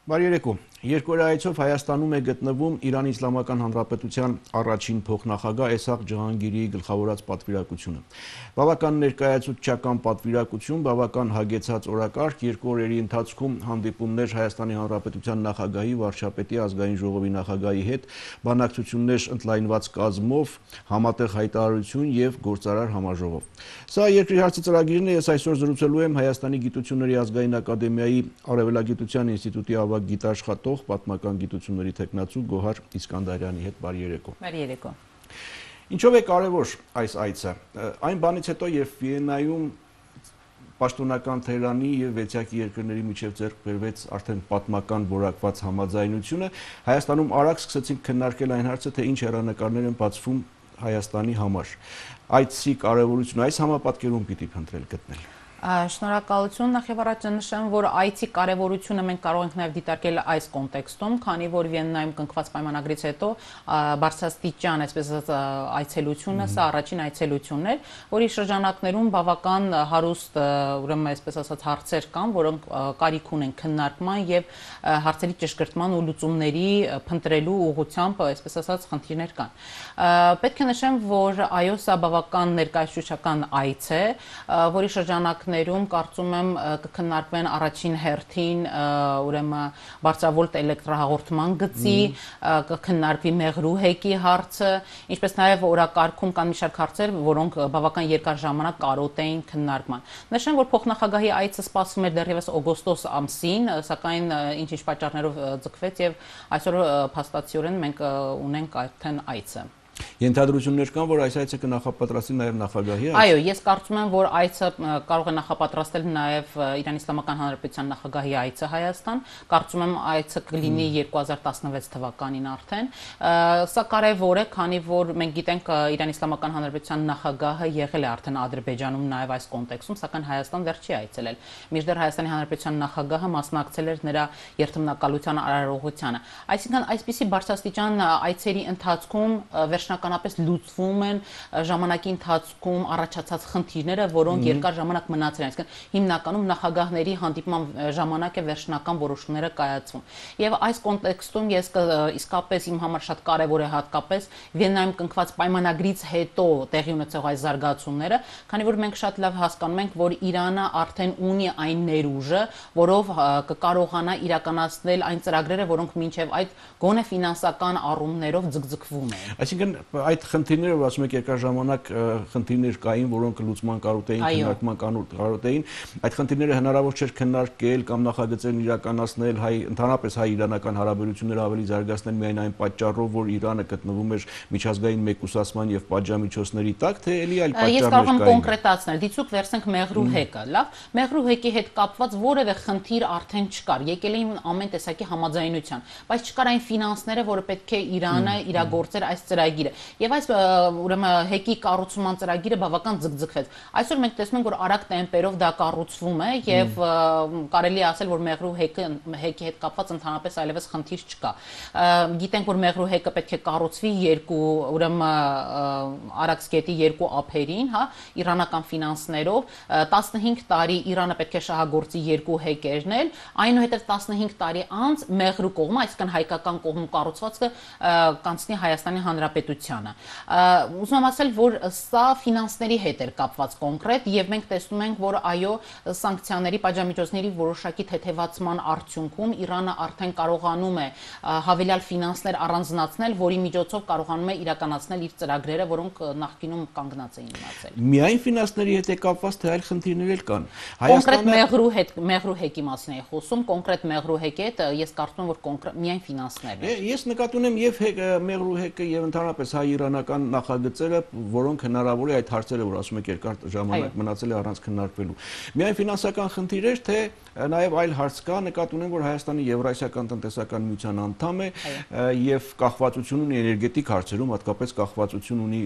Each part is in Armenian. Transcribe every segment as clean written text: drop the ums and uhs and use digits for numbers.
Բարերեկո։ Երկօրյա այցով Հայաստանում է գտնվում Իրանի Իսլամական Հանրապետության առաջին փոխնախագահ Էսհաղ Ջահանգիրիի գլխավորած պատվիրակությունը։ Բավական ներկայացուցչական պատվիրակություն, բավական հագեցած օրակարգ, երկու օրերի ընթացքում հանդիպումներ Հայաստանի Հանրապետության նախագահի, վարչապետի, ազգային ժողովի նախագահի հետ, բանակցություններ ընդլայնված կազմով, համատեղ հայտարարություն եւ գործարար համաժողով։ Սա երկրի հարցի ծրագիրն է, ես այսօր զրուցելու եմ Հայաստանի Գիտությունների ազգային ակադեմիայի Արևելագիտության ինստիտուտի ավագ գիտաշխատող պատմական գիտությունների թեկնածու Գոհար Իսկանդարյանի հետ բարերեկո։ Բարերեկո։ Ինչով է կարևոր այս այցը։ Այն բանից հետո, երբ Վիեննայում պաշտոնական Թեհրանի եւ վեցյակի երկրների միջև ձեռք բերվեց արդեն պատմական որակված համաձայնությունը, Հայաստանում արագ սկսեցին քննարկել այն հարցը, թե ինչ հեռանկարներ են բացվում Հայաստանի համար։ Այցի կարևորությունը այս համապատկերում պիտի փնտրել գտնել։ Շնորհակալություն, նախ եւ առաջ նշեմ, որ այցի կարևորությունը մենք կարող ենք նաեւ դիտարկել այս կոնտեքստում, քանի որ Վիեննայում կնքված պայմանագրից հետո բարձրաստիճան, այսպես ասած, այցելությունը, սա առաջին այցելությունն էր, որի շրջանակներում բավական հարուստ, ուրեմն այսպես ասած, հարցեր կան, որոնք կարիք ունեն քննարկման եւ հարցերի ճշգրտման ու լուծումների փնտրելու ուղղությամբ, այսպես ասած, խնդիրներ կան։ Պետք է նշեմ, որ այո, սա բավական ներկայացուցչական այց է, որի շրջանակներում կարծում եմ կքննարկվեն առաջին հերթին ուրեմն բարձրավոլտ էլեկտրահաղորդման գծի, կքննարկվի մեղրուհեկի հարցը, ինչպես նաև օրակարգում կան մի շարք հարցեր, որոնք բավական երկար ժամանակ կարոտ էին քննարկման։ Նշեմ, որ փոխնախագահի այցը սպասվում էր դեռևս օգոստոս ամսին, սակայն ինչ-ինչ պատճառներով ձգվեց եւ այսօր փաստացիորեն մենք ունենք արդեն այցը։ Ենթադրություններ կան, որ այս այցը կնախապատրաստի նաև նախագահի այց։ Այո, ես կարծում եմ, որ այցը կարող է նախապատրաստել նաև Իրանի Իսլամական Հանրապետության նախագահի այցը Հայաստան։ Կարծում եմ այցը կլինի 2016 թվականին արդեն։ Սա կարևոր է, քանի որ մենք գիտենք Իրանի Իսլամական Հանրապետության նախագահը եղել է արդեն Ադրբեջանում նաև այս կոնտեքստում, սակայն Հայաստան դեռ չի այցելել։ Մինչդեռ Հայաստանի Հանրապետության նախագահը մասնակցել էր նրա երթմնակալության արարողությանը։ Այսինքն այսպիսի բարձրաստիճան այցերի ընթացքում վերջնականապես լուծվում են ժամանակի ընթացքում առաջացած խնդիրները, որոնք երկար ժամանակ մնացել են, այսինքն հիմնականում նախագահների հանդիպման ժամանակ է վերջնական որոշումները կայացվում։ Եվ այս կոնտեքստում ես իսկապես իմ համար շատ կարևոր է հատկապես Վիեննայում կնքված պայմանագրից հետո տեղի ունեցող այս զարգացումները, քանի որ մենք շատ լավ հասկանում ենք, որ Իրանը արդեն ունի այն ներուժը, որով կկարողանա իրականացնել այն ծրագրերը, որոնք մինչև այդ գոնե ֆինանսական առումներով ձգձգվում են։ Այսինքն այդ խնդիրները, որ ասում եք երկար ժամանակ խնդիրներ կային, որոնք լուծման կարոտ էին, քննարկման կարոտ էին, այդ խնդիրները հնարավոր չէր քննարկել կամ նախագծերն իրականացնել ընդհանրապես հայ-իրանական հարաբերությունները ավելի զարգացնել միայն այն պատճառով, որ Իրանը գտնվում էր միջազգային մեկուսացման եւ պատժամիջոցների տակ, թե էլի այլ պատճառներ կային։ Ես կարող եմ կոնկրետացնել, դիցուք վերցնենք մեղրուհեկը, լավ, մեղրուհեկի հետ կապված որևէ խնդիր արդեն չկար, եկել էին ամեն տեսակի համաձայնության, բայց չկար այն ֆինանսները, որը պետք է Իրանը իրագործեր այս ծրագիրը։ Եվ այս ուրեմն հեկի կառուցման ծրագիրը բավական ձգձգվեց։ Այսօր մենք տեսնում ենք, որ արագ տեմպերով դա կառուցվում է եւ կարելի է ասել, որ մեղրու հեկի հետ կապված ընդհանրապես այլևս խնդիր չկա։ Գիտենք, որ մեղրու հեկը պետք է կառուցվի երկու ուրեմն Արաքսգետի երկու ափերին, հա, իրանական ֆինանսներով 15 տարի Իրանը պետք է շահագործի երկու հեկերն, այնուհետև 15 տարի անց մեղրու կողմը, այսինքն հայկական կողմում կառուցվածքը կանցնի Հայաստանի Հանրապետությանը։ Ուզում եմ ասել, որ սա ֆինանսների հետ էր կապված կոնկրետ եւ մենք տեսնում ենք, որ այո, սանկցիաների, պատժամիջոցների որոշակի թեթևացման արդյունքում Իրանը արդեն կարողանում է հավելյալ ֆինանսներ առանձնացնել, որի միջոցով կարողանում է իրականացնել իր ծրագրերը, որոնք նախկինում կանգնած էին մնացել։ Միայն ֆինանսների հետ է կապված, թե այլ խնդիրներ կան։ Կոնկրետ մեղրու հեկի մասին է խոսում, կոնկրետ մեղրու հեկի հետ ես կարծում եմ, որ միայն ֆինանսներն են։ Ես նկատի ունեմ եւ մեղրու հեկը եւ ընդհանրապես հայ-իրանական նախագծերը, որոնք հնարավոր է այդ հարցերը, որ ասում եք երկար ժամանակ մնացել է առանց քննարկվելու։ Միայն ֆինանսական խնդիրներ, թե նաև այլ հարց կա, նկատի ունեմ, որ Հայաստանը Եվրասիական տնտեսական միության անդամ է եւ կախվածություն ունի էներգետիկ հարցերում, հատկապես կախվածություն ունի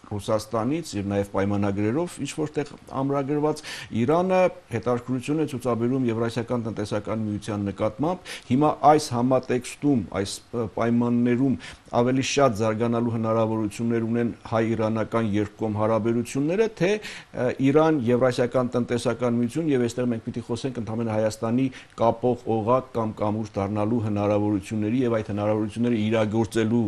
Ռուսաստանից եւ նաեւ պայմանագրերով ինչ որտեղ ամրագրված Իրանը հետաքրքրություն է ցուցաբերում Եվրասիական տնտեսական միության նկատմամբ։ Հիմա այս համատեքստում, այս պայմաններում ավելի շատ զարգանալու հնարավորություններ ունեն հայ-իրանական երկկողմ հարաբերությունները, թե Իրան-Եվրասիական տնտեսական միություն եւ այստեղ մենք պիտի խոսենք ընդհանրապես Հայաստանի կապող օղակ կամ կամուրջ դառնալու հնարավորությունների եւ այդ հնարավորությունները իրագործելու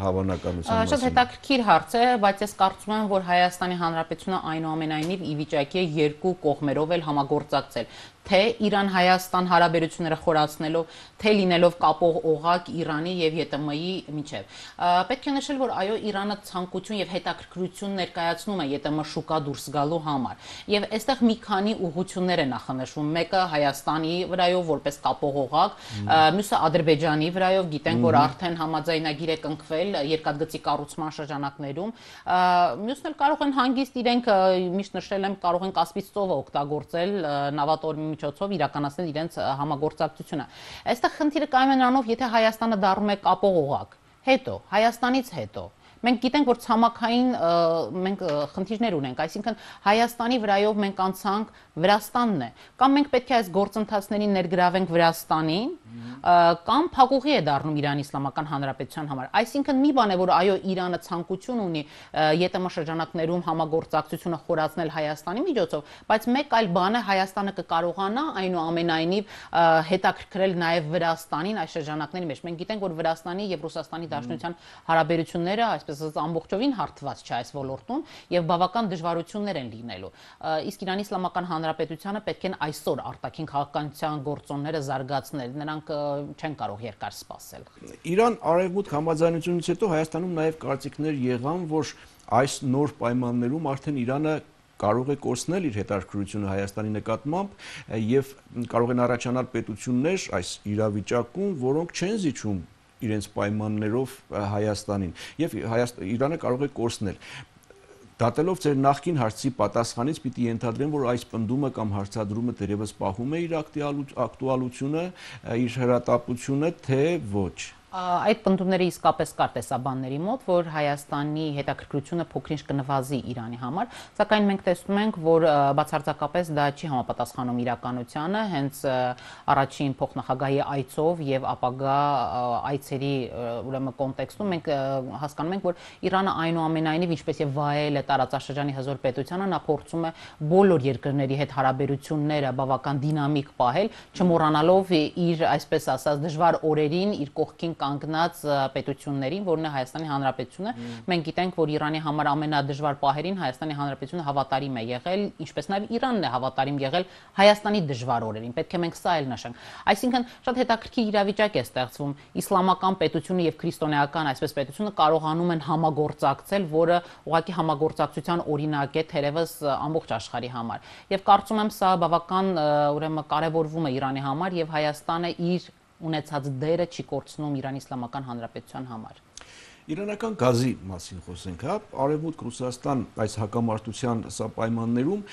հավանականության մասին։ Շատ հետաքրքիր հարց է, բայց ես կարծում եմ, որ Հայաստանի Հանրապետությունը այնուամենայնիվ ի վիճակի է երկու կողմերով էլ համագործակցել, թե Իրան-Հայաստան հարաբերությունները խորացնելով, թե լինելով կապող օղակ Իրանի եւ ԵՏՄ-ի միջեւ։ Պետք է նշել, որ այո, Իրանը ցանկություն եւ հետաքրքրություն ներկայացնում է ԵՏՄ շուկա դուրս գալու համար։ Եվ այստեղ մի քանի ուղղություններ է նախանշվում։ Մեկը Հայաստանի վրայով որպես կապող օղակ, մյուսը Ադրբեջանի վրայով, գիտենք, որ արդեն համաձայնագիր է կնքվել երկաթգծի կառուցման շրջանակներում։ Մյուսն էլ կարող են հանգիստ իրենք, միշտ նշել եմ, կարող են Կասպից ծովը օգտագործել նավատորմի միջոցով իրականացնել իրենց համագործակցությունը։ Այստեղ խնդիրը կայանում է նրանով, եթե Հայաստանը դառնում է կապող օղակ, հետո Հայաստանից հետո մենք գիտենք, որ ցամաքային մենք խնդիրներ ունենք, այսինքն Հայաստանի վրայով մենք անցանք Վրաստանն է, կամ մենք պետք է այս գործընթացներին ներգրավենք Վրաստանին, կամ փակուղի է դառնում Իրանի Իսլամական Հանրապետության համար։ Այսինքն մի բան է, որ այո, Իրանը ցանկություն ունի ԵՏՄ շրջանակներում համագործակցությունը խորացնել Հայաստանի միջոցով, բայց մեկ այլ բան է Հայաստանը կկարողանա այնուամենայնիվ հետաքրքրել նաև Վրաստանին այս շրջանակների մեջ։ Մենք գիտենք, որ Վրաստանի եւ Ռուսաստանի Դաշնության հարաբերությունները, այսպես ասած, ամբողջովին հարթված չէ այս ոլորտում եւ բավական դժվարություններ են լինելու։ Իսկ Իրանի Իսլամական Հանրապետությանը պետք է այսօր արտաքին քաղաքականության գործոնները զարգացնել, նրանք չեն կարող երկար սպասել։ Իրան-Արևմուտք համաձայնությունից հետո Հայաստանում նաև կարծիքներ եղան, որ այս նոր պայմաններում արդեն Իրանը կարող է կորցնել իր հետաքրքրությունը Հայաստանի նկատմամբ եւ կարող են առաջանալ պետություններ այս իրավիճակում, որոնք չեն զիջում իրենց պայմաններով Հայաստանին եւ Իրանը կարող է կորցնել։ Դատելով ձեր նախկին հարցի պատասխանից պիտի ենթադրեմ, որ այս պնդումը կամ հարցադրումը դերևս պահում է իր ակտուալությունը, իր հրատապությունը, թե ոչ։ Այդ պնդումները իսկապես կար տեսաբանների մոտ, որ Հայաստանի հետաքրքրությունը փոքրինչ կնվազի Իրանի համար, սակայն մենք տեսնում ենք, որ բացարձակապես դա չի համապատասխանում իրականությանը, հենց առաջին փոխնախագահի այցով եւ ապագա այցերի ուրեմն կոնտեքստում մենք հասկանում ենք, որ Իրանը այնուամենայնիվ ինչպես եւ վայել է տարածաշրջանի հզոր պետությանը, նա փորձում է բոլոր երկրների հետ հարաբերությունները բավական դինամիկ պահել, չմոռանալով իր, այսպես ասած, դժվար օրերին իր կողքին կանգնած պետություններին, որն է Հայաստանի Հանրապետությունը, մենք գիտենք, որ Իրանի համար ամենադժվար պահերին Հայաստանի Հանրապետությունը հավատարիմ է եղել, ինչպես նաև Իրանն է հավատարիմ եղել Հայաստանի դժվար օրերին։ Պետք է մենք սա էլ նշենք։ Այսինքն շատ հետաքրքիր իրավիճակ է ստեղծվում։ Իսլամական պետությունը եւ քրիստոնեական այսպես պետությունը կարողանում են համագործակցել, որը ուղղակի համագործակցության օրինակ է թերևս ամբողջ աշխարհի համար։ Եվ կարծում եմ սա բավական ուրեմն կարևորվում է Իրանի համար եւ Հայաստանը իր ունեցած դերը չի կորցնում Իրանի Իսլամական Հանրապետության համար։ Իրանական գազի մասին խոսենք, հա, Արևմուտք-Ռուսաստան այս հակամարտության սա պայմաններում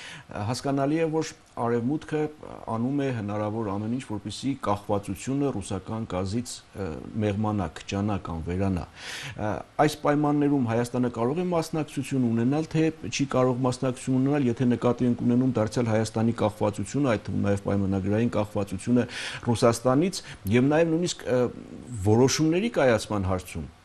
հասկանալի է, որ Արևմուտքը անում է հնարավոր ամեն ինչ, որպեսզի կախվածությունը ռուսական գազից մեղմանա, քչանա կամ վերանա։ Այս պայմաններում Հայաստանը կարող է մասնակցություն ունենալ, թե չի կարող մասնակցություն ունենալ, եթե նկատի ենք ունենում դարձյալ Հայաստանի կախվածությունը, այդ թվում նաև պայմանագրային կախվածությունը Ռուսաստանից եւ նաև նույնիսկ որոշումների կայացման հարցում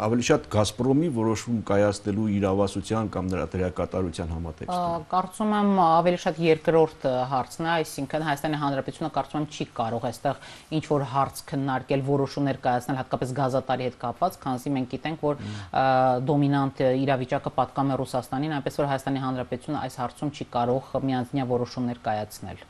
ավելի շատ Գազպրոմի որոշում կայացնելու իրավասության կամ նրա դերակատարության համատեքստում։ Կարծում եմ ավելի շատ երկրորդ հարցն է, այսինքն Հայաստանի Հանրապետությունը կարծում եմ չի կարող այստեղ ինչ որ հարց քննարկել, որոշումներ կայացնել հատկապես գազատարի հետ կապված, քանզի մենք գիտենք, որ դոմինանտ իրավիճակը պատկանում է Ռուսաստանին, այնպես որ Հայաստանի Հանրապետությունը այս հարցում չի կարող միանձնյա որոշումներ կայացնել։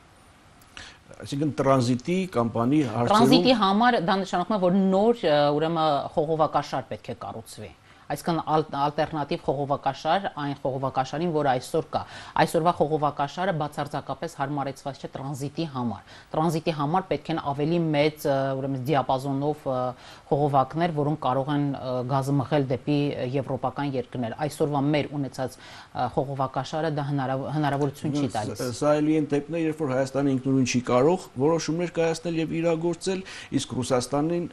Այսինքն տրանզիտի կամպանի հարցերում տրանզիտի համար դա նշանակում է, որ նոր ուրեմն խողովակաշար պետք է կառուցվի։ Այսինքն ալտերնատիվ խողովակաշար այն խողովակաշարին, որը այսօր կա։ Այսօրվա խողովակաշարը բացարձակապես հարմարեցված չէ տրանզիտի համար։ Տրանզիտի համար պետք են ավելի մեծ ուրեմն դիապազոնով խողովակներ, որոնք կարող են գազը մղել դեպի եվրոպական երկրներ։ Այսօրվա մեր ունեցած խողովակաշարը դա հնարավորություն չի տալիս։ Սա էլի են դեպքներ, երբ որ Հայաստանը ինքնուրույն չի կարող որոշումներ կայացնել եւ իրագործել, իսկ Ռուսաստանին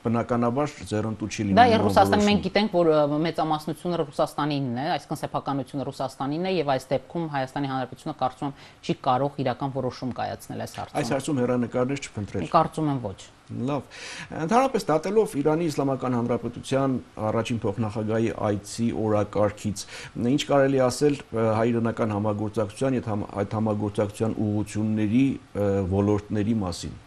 բնականաբար ձեռնտու չի լինում։ Դա Ռուսաստանը մենք գիտենք, որ մեծամասնությունը Ռուսաստանինն է, այսինքն սեփականությունը Ռուսաստանինն է եւ այս դեպքում Հայաստանի Հանրապետությունը կարծում եմ չի կարող իրական որոշում կայացնել այս հարցում։ Այս հարցում հեռանկարներ չփնտրել։ Կարծում եմ ոչ։ Լավ։ Ընդհանրապես դատելով Իրանի Իսլամական Հանրապետության առաջին փոխնախագահի այցի օրակարգից, ինչ կարելի ասել հայ-իրանական համագործակցության եւ այդ համագործակցության ուղղությունների ոլորտների մասին։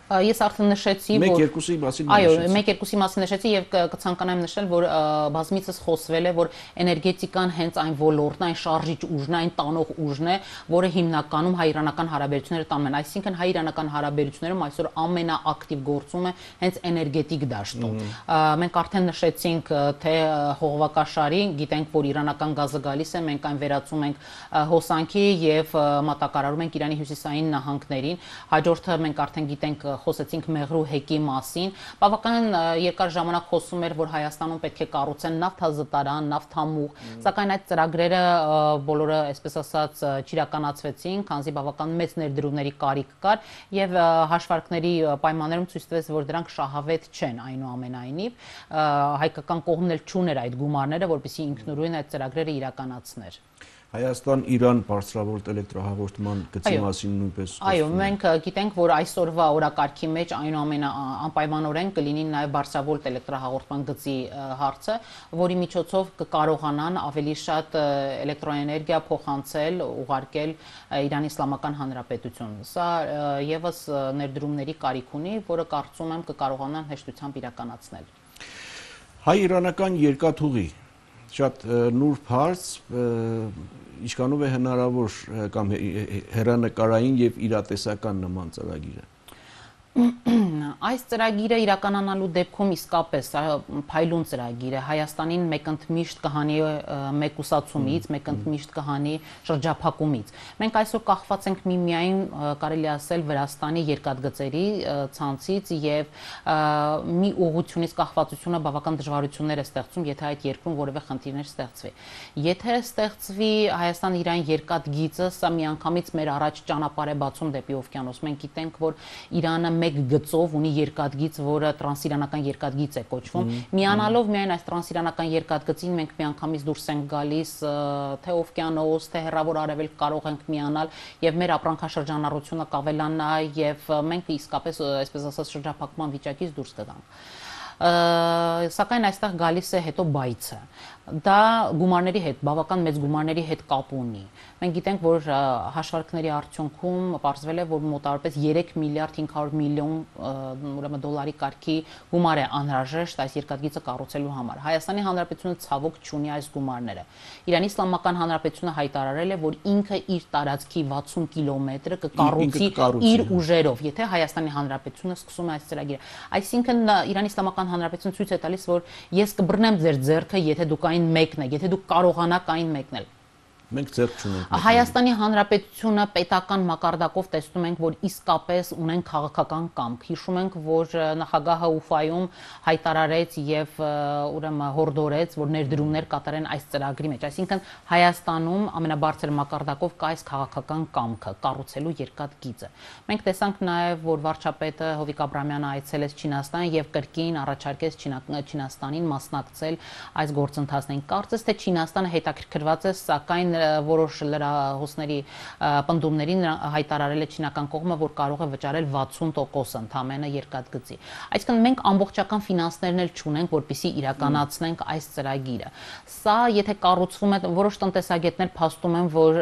Ես արդեն նշեցի, որ Մեկ-երկուսի մասին այո, մեկ-երկուսի մասին նշեցի եւ կցանկանամ նշել, որ բազմիցս խոսվել է, որ էներգետիկան հենց այն ոլորտն, այն շարժիչ ուժն է, այն տանող ուժն է, որը հիմնականում հայ-իրանական հարաբերությունները տանում են։ Այսինքն հայ-իրանական հարաբերություններում այսօր ամենաակտիվ գործում է հենց էներգետիկ դաշտում։ Մենք արդեն նշեցինք, թե հողվակաշարի, գիտենք, որ իրանական գազը գալիս է, մենք այն վերածում ենք հոսանքի եւ մատակարարում ենք Իրանի հյուսիսային նահանգներին։ Հաջորդը մենք արդեն գիտենք խոսեցինք Մեղրու հեկի մասին, բավական երկար ժամանակ խոսում էր, որ Հայաստանում պետք է կառուցեն նավթազտարան, նավթամուղ, սակայն այդ ծրագրերը բոլորը, այսպես ասած, չիրականացվեցին, քանզի բավական մեծ ներդրումների կարիք կար եւ հաշվարկների պայմաններում ցույց տվեց, որ դրանք շահավետ չեն այնուամենայնիվ, հայկական կողմն էլ չուներ այդ գումարները, որպեսզի ինքնուրույն այդ ծրագրերը իրականացներ։ Հայաստան-Իրան բարձրավոլտ էլեկտրահաղորդման գծի մասին նույնպես Այո, մենք գիտենք, որ այսօրվա օրակարգի մեջ անպայմանորեն կլինի նաև բարձրավոլտ էլեկտրահաղորդման գծի հարցը, որի միջոցով կկարողանան ավելի շատ էլեկտրոէներգիա փոխանցել, ուղարկել Իրանի Իսլամական Հանրապետություն։ Սա եւս ներդրումների կարիք ունի, որը կարծում եմ կկարողանան հեշտությամբ իրականացնել։ Հայ-իրանական երկաթուղի շատ նուրբ հարց, ինչքանով է հնարավոր կամ հեռանկարային եւ իրատեսական նման ծրագիրը։ Այս ծրագիրը իրականանալու դեպքում իսկապես փայլուն ծրագիր է, Հայաստանին մեկընդմիշտ կհանի մեկուսացումից, մեկընդմիշտ կհանի շրջափակումից։ Մենք այսօր կախված ենք միմիայն կարելի ասել Վրաստանի երկաթգծերի ցանցից եւ մի ուղղությունից կախվածությունը բավական դժվարություններ է ստեղծում, եթե այդ երկրում որևէ խնդիրներ ստեղծվի։ Եթե ստեղծվի Հայաստան-Իրան երկաթգիծը, սա միանգամից մեր առաջ ճանապարհ է բացում դեպի օվկիանոս։ Մենք գիտենք, որ Իրանը մեկ գծով ունի երկաթգիծ, որը տրանսիրանական երկաթգիծ է կոչվում։ Միանալով միայն այս տրանսիրանական երկաթգծին մենք միանգամից դուրս ենք գալիս թե օվկիանոս, թե հեռավոր արևելք կարող ենք միանալ եւ մեր ապրանքաշրջանառությունը կավելանա եւ մենք իսկապես, այսպես ասած, շրջափակման վիճակից դուրս կգանք։ Սակայն այստեղ գալիս է հետո բայցը։ Դա գումարների հետ, բավական մեծ գումարների հետ կապ ունի։ Մենք գիտենք, որ հաշվարկների արդյունքում պարզվել է, որ մոտավորապես 3 միլիարդ 500 միլիոն ուրեմն դոլարի կարգի գումար է անհրաժեշտ այս երկաթգիծը կառուցելու համար։ Հայաստանի Հանրապետությունը ցավոք չունի այս գումարները։ Իրանի Իսլամական Հանրապետությունը հայտարարել է, որ ինքը իր տարածքի 60 կիլոմետրը կկառուցի իր ուժերով, եթե Հայաստանի Հանրապետությունը սկսում է այս ծրագիրը։ Այսինքն Իրանի Իսլամական Հանրապետությունը ցույց է տալիս, որ ես կբռնեմ ձեր ձեռքը, եթե դուք այն մեկն եք, եթե դուք կարողանաք այն մեկնել։ Մենք ձեռք չունենք։ Հայաստանի Հանրապետությունը պետական մակարդակով տեսնում ենք, որ իսկապես ունեն քաղաքական կամք։ Հիշում ենք, որ նախագահը Ուֆայում հայտարարեց եւ ուրեմն հորդորեց, որ ներդրումներ կատարեն այս ծրագրի մեջ։ Այսինքն Հայաստանում ամենաբարձր մակարդակով կա այս քաղաքական կամքը կառուցելու երկաթգիծը։ Մենք տեսանք նաեւ, որ վարչապետը Հովիկ Աբրամյանը այցելեց Չինաստան եւ կրկին առաջարկեց Չինաստանին մասնակցել այս գործընթացներին։ Կարծես թե Չինաստանը հետաքրքրված է, սակայն որոշ լրահոսների պնդումներին հայտարարել է չինական կողմը, որ կարող է վճարել 60% ընդամենը երկաթգծի։ Այսինքն մենք ամբողջական ֆինանսներն էլ չունենք, որպեսզի իրականացնենք այս ծրագիրը։ Սա եթե կառուցվում է, որոշ տնտեսագետներ փաստում են, որ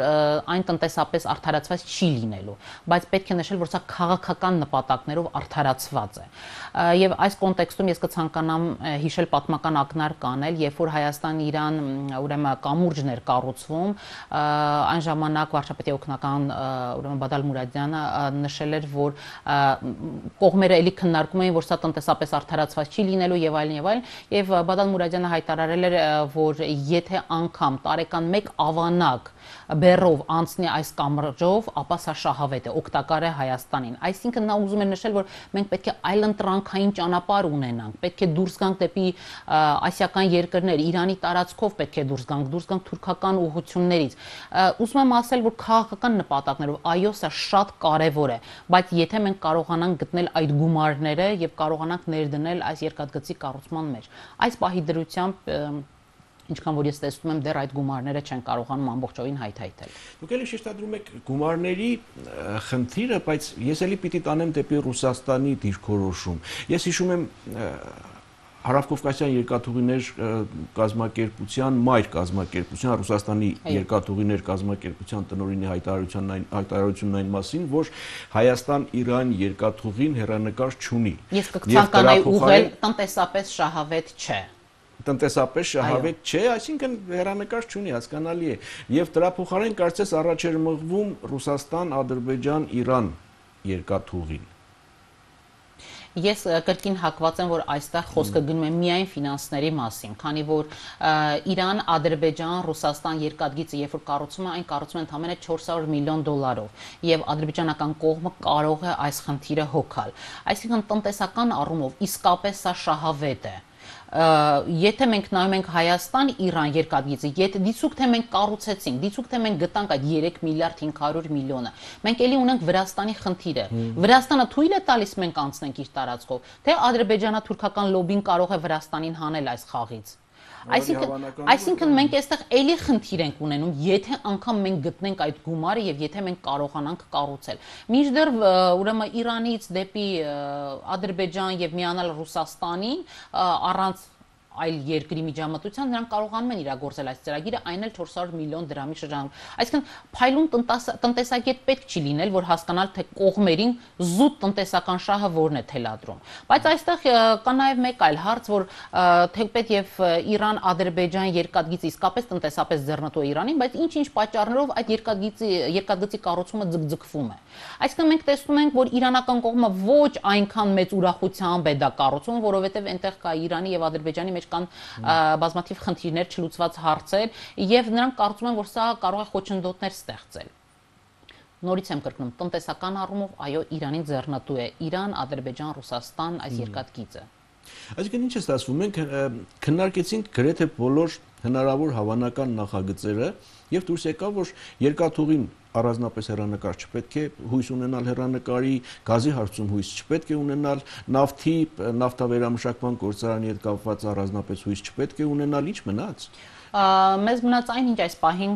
այն տնտեսապես արդարացված չի լինելու, բայց պետք է նշել, որ սա քաղաքական նպատակներով արդարացված է։ Եվ այս կոնտեքստում ես կցանկանամ հիշել պատմական ակնարկ անել, երբ որ Հայաստան-Իրան ուրեմն կամուրջներ կառուցվում, այն ժամանակ վարչապետի օգնական ուրեմն Բադալ Մուրադյանը նշել էր, որ կողմերը էլի քննարկում էին, որ սա տնտեսապես արդարացված չի լինելու եւ այլն, եւ Բադալ Մուրադյանը հայտարարել էր, որ եթե անգամ տարեկան 1 ավանակ բեռով անցնի այս կամրջով, ապա սա շահավետ է, օգտակար է Հայաստանին։ Այսինքն նա ուզում է նշել, որ մենք պետք է այլընտրանքային ճանապարհ ունենանք, պետք է դուրս գանք դեպի ասիական երկրներ, Իրանի տարածքով պետք է դուրս գանք թուրքական ուղղություններից։ Ուզում եմ ասել, որ քաղաքական նպատակներով այո, սա շատ կարևոր է, բայց եթե մենք կարողանանք գտնել այդ գումարները եւ կարողանանք ներդնել այս երկաթգծի կառուցման մեջ, այս պահի դրությամբ ինչքան որ ես տեսնում եմ դեռ այդ գումարները չեն կարողանում ամբողջովին հայթայթել։ Դուք էլի շեշտադրում եք գումարների խնդիրը, բայց ես էլի պիտի տանեմ դեպի Ռուսաստանի դիրքորոշում։ Ես հիշում եմ Հարավկովկասյան երկաթուղիներ կազմակերպության մայր կազմակերպության Ռուսաստանի երկաթուղիներ կազմակերպության տնօրինի հայտարարությունն այն մասին, որ Հայաստան-Իրան երկաթուղին հեռանկար չունի։ Ես կցանկանայի ուղղել տնտեսապես շահավետ չէ։ Տնտեսապես շահավետ չէ, այսինքն հեռանկար չունի, հասկանալի է։ Եվ դրա փոխարեն կարծես առաջ էր մղվում Ռուսաստան, Ադրբեջան, Իրան երկաթուղին։ Ես կրկին հակված եմ, որ այստեղ խոսքը գնում է միայն ֆինանսների մասին, քանի որ Իրան, Ադրբեջան, Ռուսաստան երկաթգիծը, երբ որ կառուցում են, այն կառուցում են ընդամենը $400 միլիոն, եւ ադրբեջանական կողմը կարող է այս խնդիրը հոգալ։ Այսինքն տնտեսական առումով իսկապես սա շահավետ է։ Եթե մենք նայում ենք Հայաստան-Իրան երկաթգիծը, եթե դիցուք թե մենք կառուցեցինք, դիցուք թե մենք գտանք այդ 3 միլիարդ 500 միլիոնը, մենք էլի ունենք Վրաստանի խնդիրը։ Վրաստանը թույլ է տալիս մենք անցնենք իր տարածքով, թե ադրբեջանա-թուրքական լոբին կարող է Վրաստանին հանել այս խաղից։ Այսինքն մենք այստեղ էլի խնդիր ենք ունենում, եթե անգամ մենք գտնենք այդ գումարը եւ եթե մենք կարողանանք կառուցել։ Մինչդեռ ուրեմն Իրանից դեպի Ադրբեջան եւ միանալ Ռուսաստանին առանց այլ երկրի միջամտության նրանք կարողանում են իրագործել այս ծրագիրը, այն էլ 400 միլիոն դրամի շրջանում։ Այսինքն փայլուն տնտեսագետ պետք չի լինել, որ հասկանալ թե կողմերին զուտ տնտեսական շահը որն է թելադրում։ Բայց այստեղ կա նաև մեկ այլ հարց, որ թեպետ եւ Իրան-Ադրբեջան երկաթգիծը իսկապես տնտեսապես ձեռնտու է Իրանին, բայց ինչ-ինչ պատճառներով այդ երկաթգծի կառուցումը ձգձգվում է։ Այսինքն մենք տեսնում ենք, որ իրանական կողմը ոչ այնքան մեծ ուրախությամբ է դա կառուցում, որովհետեւ այնտեղ կա Իրանի եւ Ադրբեջանի մեջ կան բազմաթիվ խնդիրներ, չլուծված հարցեր, եւ նրանք կարծում են, որ սա կարող է խոչընդոտներ ստեղծել։ Նորից եմ կրկնում, տնտեսական առումով այո, Իրանին ձեռնտու է Իրան, Ադրբեջան, Ռուսաստան այս երկաթգիծը։ Այսինքն ինչ է ստացվում, մենք քննարկեցինք գրեթե բոլոր հնարավոր հավանական նախագծերը եւ դուրս եկավ, որ երկաթուղին առանձնապես հեռանկար չպետք է հույս ունենալ հեռանկարի, գազի հարցում հույս չպետք է ունենալ, նավթավերամշակման գործարանի հետ կապված առանձնապես հույս չպետք է ունենալ, ինչ մնաց։ Մեզ մնաց այն, ինչ այս պահին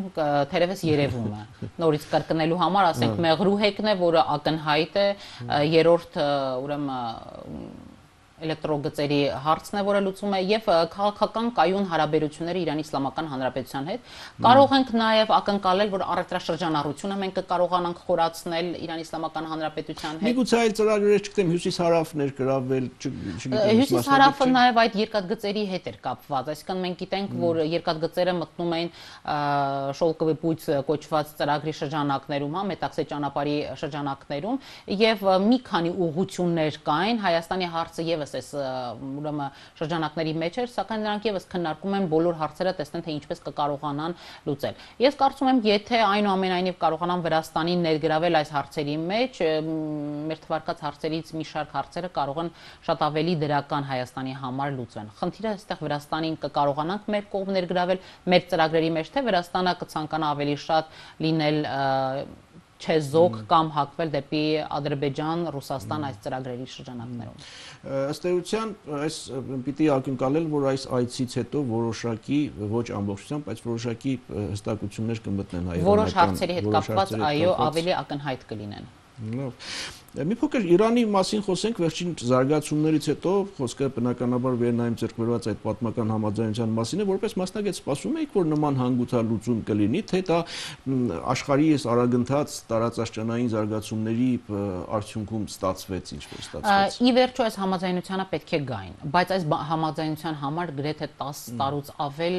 թերևս երևում է։ Նորից կրկնելու համար, ասենք, Մեղրուհեկն է, որը ակնհայտ է, երրորդ ուրեմն էլեկտրոգծերի հարցն է, որը լուծում է, եւ քաղաքական կայուն հարաբերությունները Իրանի Իսլամական Հանրապետության հետ։ Կարող ենք նաեւ ակնկալել, որ առևտրաշրջանառությունը մենք կկարողանանք խորացնել Իրանի Իսլամական Հանրապետության հետ։ Միգուցե այլ ծրագրեր չգիտեմ, հյուսիս-հարավ ներգրավել, չգիտեմ։ Հյուսիս-հարավը նաեւ այդ երկաթգծերի հետ էր կապված, այսինքն մենք գիտենք, որ երկաթգծերը մտնում են շոլկովի պույց կոչված ծրագրի շրջանակներում, հա, Մետաքսե ճանապարհի շրջանակներում, եւ մի քանի ուղղություններ կային, Հայաստանի հարցը եւս այս ուրեմն շրջանակների մեջ էր, սակայն նրանք եւս քննարկում են բոլոր հարցերը, տեսնեն թե ինչպես կկարողանան լուծել։ Ես կարծում եմ, եթե այնուամենայնիվ կարողանան Վրաստանին ներգրավել այս հարցերի մեջ, մեր թվարկած հարցերից մի շարք հարցերը կարող են շատ ավելի դրական Հայաստանի համար լուծվեն։ Խնդիրը այստեղ Վրաստանին կկարողանանք մեր կողմ ներգրավել մեր ծրագրերի մեջ, թե Վրաստանը կցանկանա ավելի շատ լինել չեզոք կամ հակվել դեպի Ադրբեջան, Ռուսաստան այս ծրագրերի շրջանակներում։ Ըստ էության, այս պիտի ակնկալել, որ այս այցից հետո որոշակի, ոչ ամբողջությամբ, բայց որոշակի հստակություններ կմտնեն հայերենական։ Որոշ հարցերի հետ կապված, այո, ավելի ակնհայտ կլինեն։ Լավ։ Մի փոքր Իրանի մասին խոսենք, վերջին զարգացումներից հետո խոսքը բնականաբար վերնայում ձեռք բերված այդ պատմական համաձայնության մասին է, որպես մասնագետ սպասում եք, որ նման հանգուցալուծում կլինի, թե դա աշխարհի այս արագընթաց տարածաշրջանային զարգացումների արդյունքում ստացվեց, ինչպես ստացվեց։ Ի վերջո այս համաձայնությանը պետք է գային, բայց այս համաձայնության համար գրեթե 10 տարուց ավել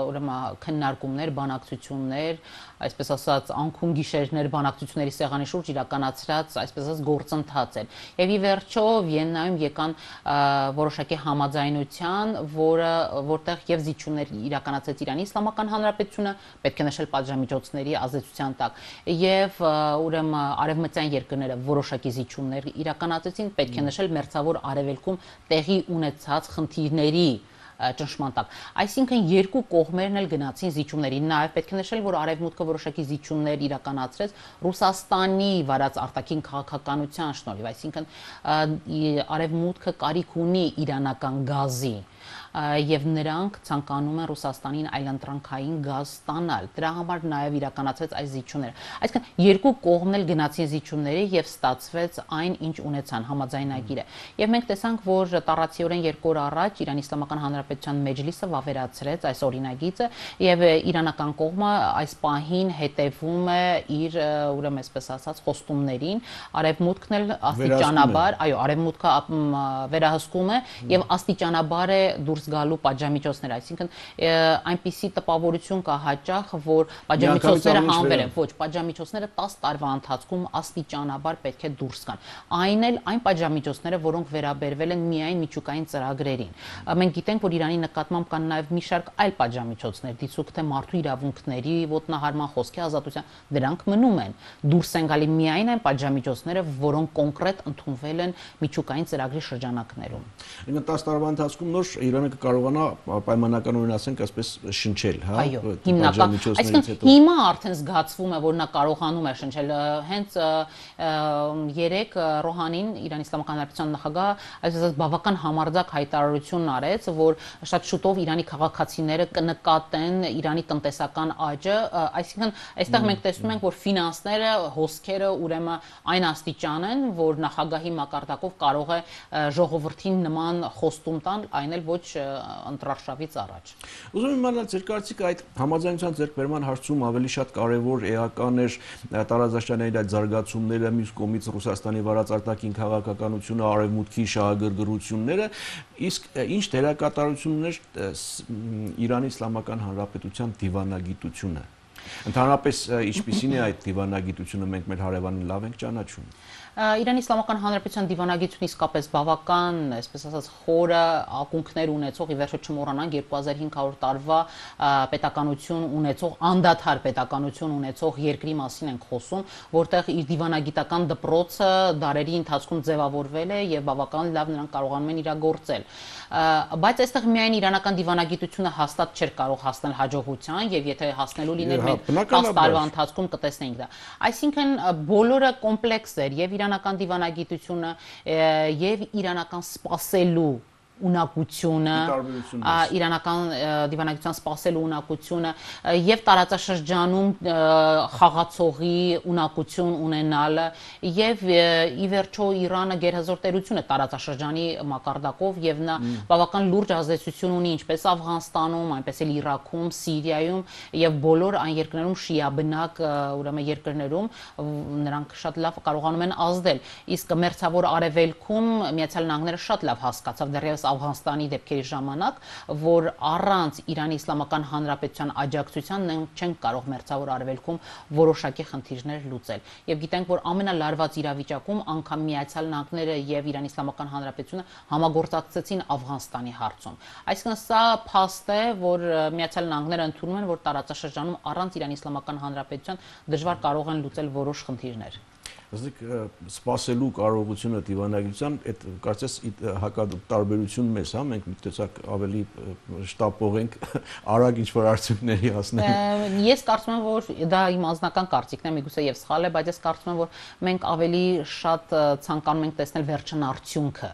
ուրեմն քննարկումներ, բանակցություններ, այսպես ասած, անքուն գիշերներ բանակցությունների սեղանի շուրջ իրականացրած, այսպես ասած, գործընթաց էր։ Եվ ի վերջո Վիեննայում եկան որոշակի համաձայնության, որտեղ եւ զիջումներ իրականացրեց Իրանի Իսլամական Հանրապետությունը, պետք է նշել պատժամիջոցների ազդեցության տակ, եւ ուրեմն արևմտյան երկրները որոշակի զիջումներ իրականացրեցին, պետք է նշել մերձավոր արևելքում տեղի ունեցած խնդիրների ճնշման տակ։ Այսինքն երկու կողմերն էլ գնացին զիջումների։ Նաև պետք է նշել, որ արևմուտքը որոշակի զիջումներ իրականացրեց Ռուսաստանի վարած արտաքին քաղաքականության շնորհիվ, այսինքն արևմուտքը կարիք ունի իրանական գազի եւ նրանք ցանկանում են Ռուսաստանին այլընտրանքային գազ ստանալ։ Դրա համար նաև իրականացվեց այս զիջումները։ Այսինքն երկու կողմն էլ գնացին զիջումների եւ ստացվեց այն, ինչ ունեցան համաձայնագիրը։ Եվ մենք տեսանք, որ տառացիորեն 2 օր առաջ Իրանի Իսլամական Հանրապետության մեջլիսը վավերացրեց այս օրինագիծը եւ իրանական կողմը այս պահին հետևում է իր ուրեմն այսպես ասած խոստումներին, արևմուտքն էլ աստիճանաբար, այո, արևմուտքը վերահսկում է եւ աստիճանաբար է դուրս գալու պատժամիջոցներ, այսինքն այնպիսի տպավորություն կա հաճախ, որ պատժամիջոցները հանվել են, ոչ, պատժամիջոցները 10 տարվա ընթացքում աստիճանաբար պետք է դուրս գան։ Այն էլ այն պատժամիջոցները, որոնք վերաբերվել են միայն միջուկային ծրագրերին։ Մենք գիտենք, որ Իրանի նկատմամբ կան նաև մի շարք այլ պատժամիջոցներ, դիցուք թե մարդու իրավունքների ոտնահարման, խոսքի ազատության, դրանք մնում են։ Դուրս են գալի միայն այն պատժամիջոցները, որոնք կոնկրետ ընդունվել են միջուկային ծրագրի շրջանակներում։ 10 տարվա ընթացքում նոր Իրանը կկարողանա պայմանականորեն ասենք այսպես շնչել, հա, պատժամիջոցներից հետո։ Հիմա արդեն զգացվում է, որ նա կարողանում է շնչել։ Հենց երեք Ռոհանին, Իրանի Իսլամական Հանրապետության նախագահ, այսպես բավական համարձակ հայտարարություն արեց, որ շատ շուտով Իրանի քաղաքացիները կնկատեն Իրանի տնտեսական աճը, այսինքն այստեղ մենք տեսնում ենք, որ ֆինանսները, հոսքերը ուրեմն այն աստիճան են, որ նախագահի մակարդակով կարող է ժողովրդին նման խոստում տալ, այն էլ ոչ ընտրարշավից առաջ։ Ուզում եմ իմանալ ձեր կարծիքը այդ համաձայնության ձեռքբերման հարցում ավելի շատ կարևոր էական էր տարածաշրջանային այդ զարգացումները, մյուս կողմից Ռուսաստանի վարած արտաքին քաղաքականությունը, արևմուտքի շահագրգռությունները, իսկ ինչ դերակատարություն ուներ Իրանի Իսլամական Հանրապետության դիվանագիտությունը։ Ընդհանրապես ինչպիսին է այդ դիվանագիտությունը, մենք մեր հարևանին լավ ենք ճանաչում։ Իրանի Իսլամական Հանրապետության դիվանագիտությունը իսկապես բավական, այսպես ասած, խորը ակունքներ ունեցող, ի վերջո չմոռանանք 2500 տարվա պետականություն ունեցող, անդադար պետականություն ունեցող երկրի մասին ենք խոսում, որտեղ իր դիվանագիտական դպրոցը դարերի ընթացքում ձևավորվել է եւ բավական լավ նրանք կարողանում են իրագործել։ Բայց այստեղ միայն իրանական դիվանագիտությունը հաստատ չէր կարող հասնել հաջողության եւ եթե հասնելու լիներ մենք 10 տարվա ընթացքում կտեսնեինք դա։ Այսինքն բոլորը կոմպլեքս էր եւ իրանական դիվանագիտությունը եւ իրանական սպասելու ունակությունը, իրանական դիվանագիտության սպասելու ունակությունը եւ տարածաշրջանում խաղացողի ունակություն ունենալը եւ ի վերջո Իրանը գերհզոր տերություն է տարածաշրջանի մակարդակով եւ նա բավական լուրջ ազդեցություն ունի ինչպես Աֆղանստանում, այնպես էլ Իրաքում, Սիրիայում եւ բոլոր այն երկրներում շիաբնակ ուրեմն երկրներում նրանք շատ լավ կարողանում են ազդել։ Իսկ մերձավոր արևելքում Միացյալ Նահանգները շատ լավ հասկացավ դեռևս Աֆղանստանի դեպքերի ժամանակ, որ առանց Իրանի Իսլամական Հանրապետության աջակցության չեն կարող մերձավոր արևելքում որոշակի խնդիրներ լուծել։ Եվ գիտենք, որ ամենալարված իրավիճակում անգամ Միացյալ Նահանգները եւ Իրանի Իսլամական Հանրապետությունը համագործակցեցին Աֆղանստանի հարցում։ Այսինքն սա փաստ է, որ Միացյալ Նահանգները ընդունում են, որ տարածաշրջանում առանց Իրանի Իսլամական Հանրապետության դժվար կարող են լուծել որոշ խնդիրներ։ Ասենք սպասելու կարողությունը դիվանագիտության այդ կարծես հակատարբերություն մեզ, հա, մենք միտեցակ ավելի շտապող ենք արագ ինչ-որ արդյունքների հասնել։ Ես կարծում եմ, որ դա իմ անձնական կարծիքն է, միգուցե եւ սխալ է, բայց ես կարծում եմ, որ մենք ավելի շատ ցանկանում ենք տեսնել վերջնարդյունքը։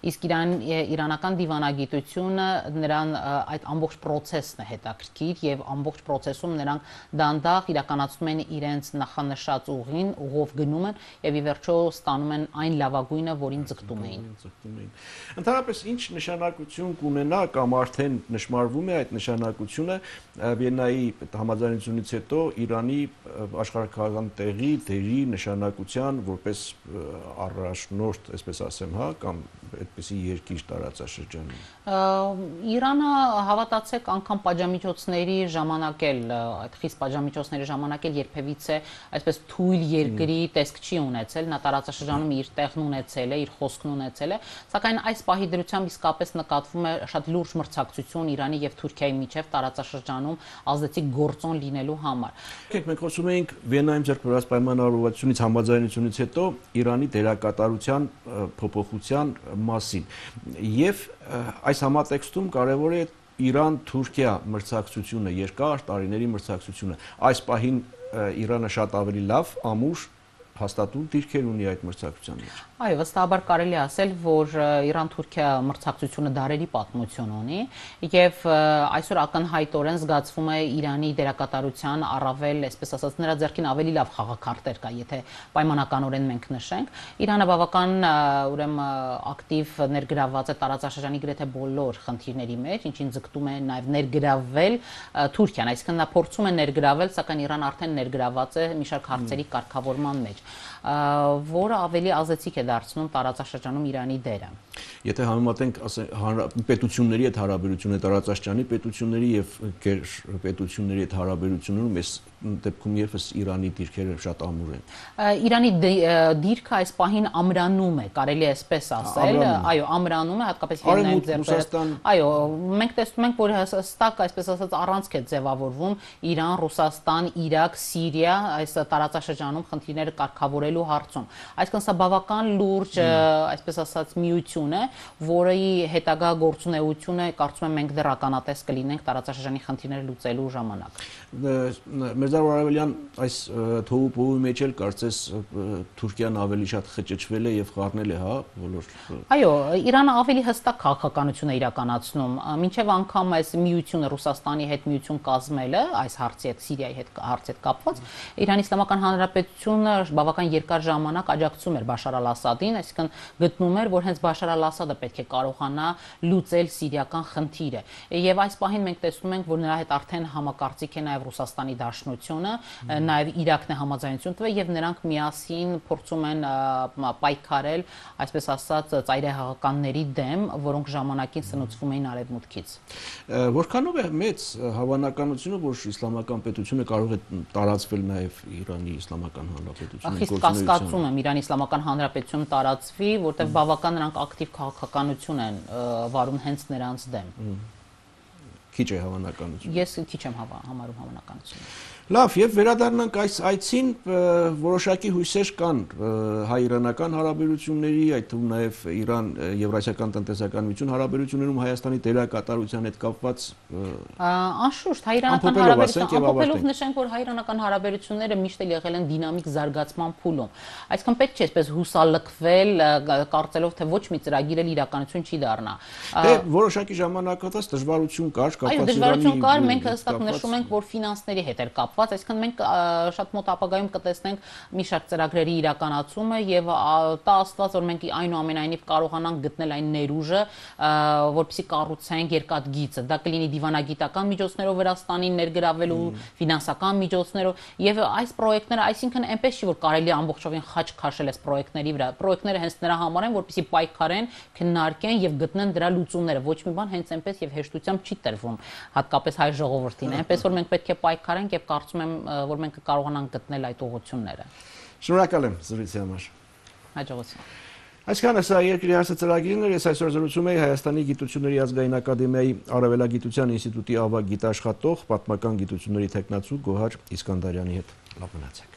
Իսկ իրանական դիվանագիտությունը նրան այդ ամբողջ process-ն է հետաքրքիր եւ ամբողջ process-ում նրանք դանդաղ իրականացնում են իրենց նախանշած ուղին, ուղով գնում են եւ ի վերջո ստանում են այն լավագույնը, որին ձգտում էին։ Ընդհանրապես ինչ նշանակություն կունենա կամ արդեն նշмарվում է այդ նշանակությունը Վիեննայի համաձայնությունից հետո Իրանի աշխարհագրական տեղի, դերի նշանակության որպես առաջնորդ, այսպես ասեմ, հա, կամ այդպիսի երկիր տարածաշրջանում։ Իրանը հավատացեք անգամ պատժամիջոցների ժամանակ էլ այդ խիստ պատժամիջոցների ժամանակ էլ երբևիցե այսպես թույլ երկրի տեսք չի ունեցել, նա տարածաշրջանում իր տեղն ունեցել է, իր խոսքն ունեցել է, սակայն այս պահի դրությամբ իսկապես նկատվում է շատ լուրջ մրցակցություն Իրանի եւ Թուրքիայի միջև տարածաշրջանում ազդեցիկ գործոն լինելու համար։ Մենք խոսում ենք Վիեննայում ձեռք բերված պայմանավորվածությունից համաձայնությունից հետո Իրանի դերակատարության փոփոխության մասին եւ այս համատեքստում կարևոր է Իրան-Թուրքիա մրցակցությունը, երկար տարիների մրցակցությունը։ Այս պահին Իրանը շատ ավելի լավ, ամուր հաստատուն դիրքեր ունի այդ մրցակցության մեջ։ Այո, վստահաբար կարելի է ասել, որ Իրան-Թուրքիա մրցակցությունը դարերի պատմություն ունի եւ այսօր ակնհայտորեն զգացվում է Իրանի դերակատարության առավել, այսպես ասած, նրա ձեռքին ավելի լավ խաղաքարտեր կա, եթե պայմանականորեն մենք նշենք։ Իրանը բավական ուրեմն ակտիվ ներգրավված է տարածաշրջանի գրեթե բոլոր խնդիրների մեջ, ինչին ձգտում է նաեւ ներգրավել Թուրքիան, այսինքն նա փորձում է ներգրավել, սակայն Իրանը արդեն ներգրաված է մի շարք հարցերի կարգավորման մեջ, որը ավելի ազդեցիկ է դարձնում տարածաշրջանում Իրանի դերը։ Եթե համեմատենք պետությունների հետ հարաբերությունը տարածաշրջանի պետությունների եւ պետությունների հետ հարաբերություններում այս դեպքում եւս Իրանի դիրքերը շատ ամուր են։ Իրանի դիրքը այս պահին ամրանում է, կարելի է այսպես ասել, այո, ամրանում է, հատկապես Վիեննայում ձեռքբերած։ Այո, մենք տեսնում ենք, որ հստակ, այսպես ասած, առանցք է ձևավորվում Իրան, Ռուսաստան, Իրաք, Սիրիա, այս տարածաշրջանում խնդիրները կարգավորելու հարցում։ Այսինքն սա բավական լուրջ, այսպես ասած, միություն է, որի հետագա գործունեությունը կարծում եմ մենք դեռ ականատես կլինենք տարածաշրջանի խնդիրները լուծելու ժամանակ։ Մերձավոր Արևելյան այս թոհուբոհի մեջ էլ կարծես Թուրքիան ավելի շատ խճճվել է եւ խառնել է, հա, բոլոր։ Այո, Իրանը ավելի հստակ քաղաքականություն է իրականացնում, մինչև անգամ այս միությունը Ռուսաստանի հետ միություն կազմելը, այս հարցի հետ, Սիրիայի հետ հարցի հետ կապված, Իրանի Իսլամական Հանրապետությունը բավական երկար ժամանակ աջակցում էր Բաշար al-Ասադին, այսինքն գտնում էր, որ հենց Բաշար al-Ասադը պետք է կարողանա լուծել սիրիական խնդիրը։ Եվ այս պահին մենք տեսնում ենք, որ նրա հետ արդեն համակարծիք է նաև Ռուսաստանի Դաշնությունը, նաև Իրաքն է համաձայնություն տվել եւ նրանք միասին փորձում են պայքարել, այսպես ասած, ծայրահեղականների դեմ, որոնք ժամանակին սնուցվում էին արևմուտքից։ Որքանով է մեծ հավանականությունը, որ իսլամական պետությունը կարող է տարածվել նաև Իրանի Իսլամական Հանրապետությունում։ Խիստ կասկածում եմ Իրանի Իսլամական Հանրապետությունում տարածվի, որտեղ բավական նրանք ակտիվ քաղաքականություն են վարում հենց նրանց դեմ։ Քիչ է հավանականությունը։ Ես քիչ եմ համարում հավանականությունը։ Լավ, եւ վերադառնանք այս այցին, որոշակի հույսեր կան հայ-իրանական հարաբերությունների, այդ թվում նաեւ Իրան-Եվրասիական տնտեսական միություն հարաբերություններում Հայաստանի դերակատարության հետ կապված անշուշտ հայ-իրանական հարաբերությունները, ամփոփելով նշենք, որ հայ-իրանական հարաբերությունները միշտ էլ եղել են դինամիկ զարգացման փուլում։ Այսինքն պետք չէ այսպես հուսալքվել, կարծելով թե ոչ մի ծրագիր էլ իրականություն չի դառնա։ Դե որոշակի ժամանակահատված դժվարություն կար, կապված Այո, դժվարություն կար, մենք հստակ նշում ենք, որ ֆինանսների հետ էր կապված, այսինքն մենք շատ մոտ ապագայում կտեսնենք մի շարք ծրագրերի իրականացումը եւ տա Աստված, որ մենք այնուամենայնիվ կարողանանք գտնել այն ներուժը, որպեսզի կառուցենք երկաթգիծը։ Դա կլինի դիվանագիտական միջոցներով Վրաստանին ներգրավելու, ֆինանսական միջոցներով եւ այս պրոյեկտները, այսինքն այնպես չի, որ կարելի է ամբողջովին խաչ քաշել այս պրոյեկտների վրա։ Պրոյեկտները հենց նրա համար են, որպեսզի պայքարեն, քննարկեն եւ գտնեն դրա լուծումները։ Ոչ մի բան հենց այնպես եւ հեշտությամբ չի տրվում, հատկապես հայ ժողովրդին։ Այնպես որ մենք պետք է պայքարենք եւ կարծում եմ, որ մենք կարողանանք գտնել այդ ուղղությունները։ Շնորհակալ եմ զրույցի համար։ Հաջողություն։ Այսքանը սա երկրի հարցը ծրագիրն էր, ես այսօր զրուցում էի Հայաստանի Գիտությունների ազգային ակադեմիայի Արևելագիտության ինստիտուտի ավագ գիտաշխատող, պատմական գիտությունների թեկնածու Գոհար Իսկանդարյանի հետ։ Լավ մնացեք։